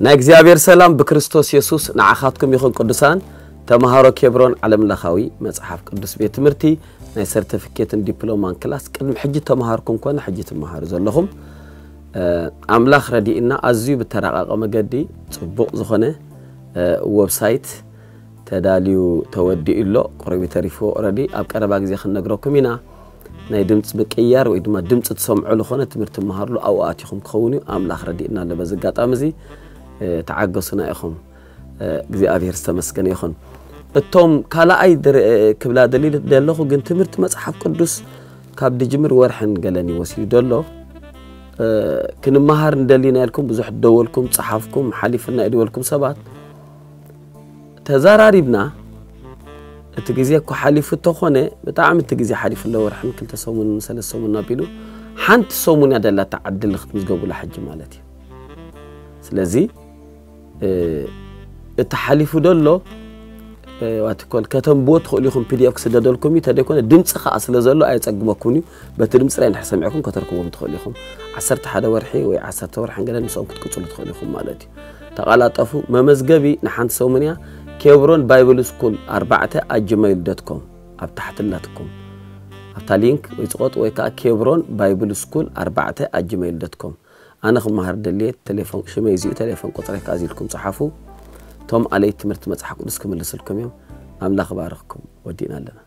ናይ እግዚኣብሔር ሰላም ብክርስቶስ የሱስ ንዓኻትኩም ይኹን። ቅዱሳን ተምሃሮ ኬብሮን ዓለም ለኻዊ መጽሓፍ ቅዱስ ቤት ትምህርቲ ናይ ሰርቲፊኬትን ዲፕሎማን ክላስ ቅድሚ ሕጂ ተምሃርኩም ኮነ ሕጂ ትምሃሩ ዘለኹም፣ ኣምላኽ ረዲእና ኣዝዩ ብተራቐቐ መገዲ ጽቡቕ ዝኾነ ወብሳይት ተዳልዩ ተወዲኡ ኣሎ። ቁሩብ ተሪፉ ኦረዲ ኣብ ቀረባ ግዜ ክንነግረኩም ኢና። ናይ ድምፂ ምቅያር ወይ ድማ ድምፂ ትሰምዑ ዝኾነ ትምህርቲ መሃርሉ ኣብኡ ኣቲኹም ክኸውን እዩ። ኣምላኽ ረዲእና ኣሎ። በዚ ኣጋጣሚ እዚ ተዓገሱና ኢኹም። እግዚኣብሔር ዝተመስገነ ይኹን። እቶም ካልኣይ ክብላ ደሊ ደለኹ ግን ትምህርቲ መፅሓፍ ቅዱስ ካብ ድጅምር ወርሕን ገለን ይወስዩ ደሎ። ክንመሃር እንደሊና ኢልኩም ብዙሕ ደወልኩም፣ ፀሓፍኩም፣ ሓሊፍና ይድወልኩም ሰባት ተዛራሪብና። እቲ ግዜ እኮ ሓሊፉ እንተኾነ ብጣዕሚ እቲ ግዜ ሓሊፉ ኣሎ። ወርሕን ክልተ ሰሙንን ሰለስተ ሰሙን ኣቢሉ ሓንቲ ሰሙን እያ ደላታ ዕድል ክትምዝገቡላ ሕጂ ማለት እዩ። ስለዚ እቲ ሓሊፉ ደሎ ዋትኮል ከተንብዎ ትኽእሉ ኢኹም። ፒዲኤፍ ክስደደልኩም እዩ። ተደይኮነ ድምፂ ከዓ ስለ ዘሎ ኣየፀግመኩም እዩ። በቲ ድምፂ ጥራይ እንድሕር ሰሚዕኩም ከተርክቦም ትኽእሉ ኢኹም። ዓሰርተ ሓደ ወርሒ ወይ ዓሰርተ ወርሒ ገለ ምስኦም ክትቅፅሉ ትኽእሉ ኢኹም ማለት እዩ። ተቐላጠፉ። መመዝገቢ ንሓንቲ ሰሙን እያ። ኬብሮን ባይብል ስኩል ኣርባዕተ ኣት ጂሜይል ዶት ኮም ኣብ ታሕቲ ኣላትኩም ኣብታ ሊንክ ወይ ፅቆጥ ወይ ከዓ ኬብሮን ባይብል ስኩል ኣርባዕተ ኣት ጂሜይል ዶት ኮም። ኣነ ክመሃር ደልየ ቴሌፎን ሽመይ እዚኡ ቴሌፎን ቁፅረይ ከኣዚልኩም ፀሓፉ። እቶም ኣለይ ትምህርቲ መፅሓፍ ቅዱስ ክምልስልኩም እዮም። ኣምላኽ ባርኽኩም። ወዲእና ኣለና።